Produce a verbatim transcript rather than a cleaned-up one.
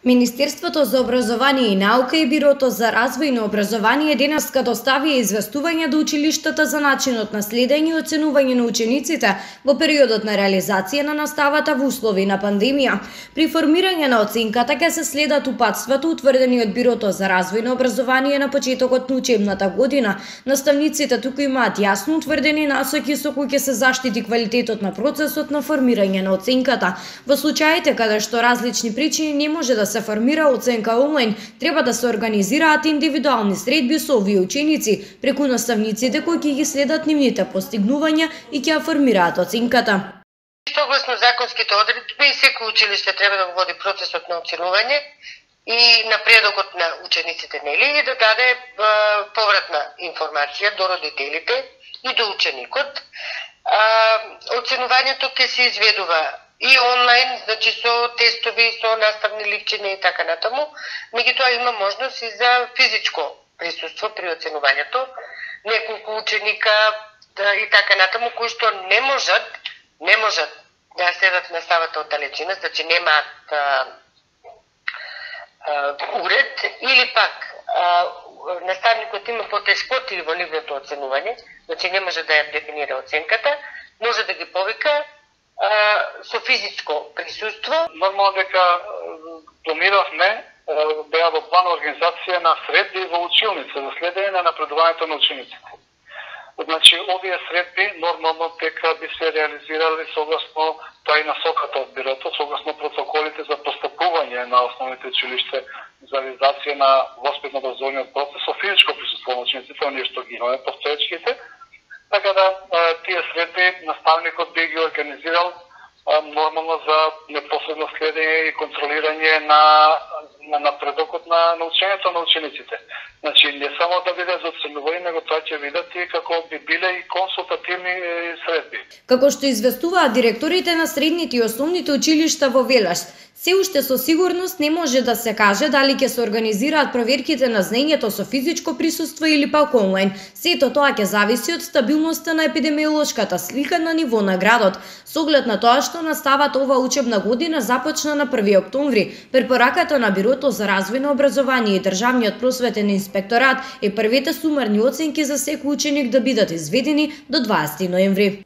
Министерството за образование и наука и Бирото за развојно образование денеска доставија известување до училиштата за начинот на следење и оценување на учениците во периодот на реализација на наставата во услови на пандемија. При формирање на оценката ќе се следат упатствата утврдени од Бирото за развојно образование на почетокот на учебната година. Наставниците туку имаат јасно утврдени насоки со кои ќе се заштити квалитетот на процесот на формирање на оценката. Во случаите каде што различни причини не може да се формира оценка онлайн, треба да се организираат индивидуални средби со овие ученици преку наставниците кои ќе ги следат нивните постигнувања и ќе ја формираат оценката. Согласно законските одредби, секој училиште треба да го води процесот на оценување и напредокот на учениците, нели, и да даде е, повратна информација до родителите и до ученикот. Е, оценувањето ќе се изведува и онлайн, значи со тестови, со наставни ливчиња и така натаму, меѓутоа има можност и за физичко присуство при оценувањето, неколку ученика да, и така натаму, кои што не можат, не можат да следат наставата од далечина, значи немаат а, а, уред, или пак а, наставникот има потешкоти во нивното оценување, значи не може да ја дефинира оценката, може да ги повика со физичко присуство. Нормално дека планиравме беа во план организација на средби во училница за следење на напредувањето на учениците. Значи, овие средби нормално дека би се реализирали согласно тај насоката од Бирото, согласно протоколите за постапување на основните училишта за реализација на воспитно-образовниот процес со физичко присуство на учениците, оние што ги имаме постоечките. Така да тие средби наставникот би ги организирал нормално за непосредно следење и контролирање на на напредокот на научењето на учениците. Значи не само да биде за оценување, него тоа ќе видат и како би биле и консултативни средби. Како што известуваат директорите на средните и основните училишта во Велаш, се уште со сигурност не може да се каже дали ќе се организираат проверките на знаењето со физичко присуство или пак онлайн. Сето тоа ќе зависи од стабилноста на епидемиолошката слика на ниво на градот, со оглед на тоа што наставата ова учебна година започна на први октомври. Препораката на Бирото за развојно образование и Државниот просветен инспекторат е првите сумарни оценки за секој ученик да бидат изведени до дваесети ноември.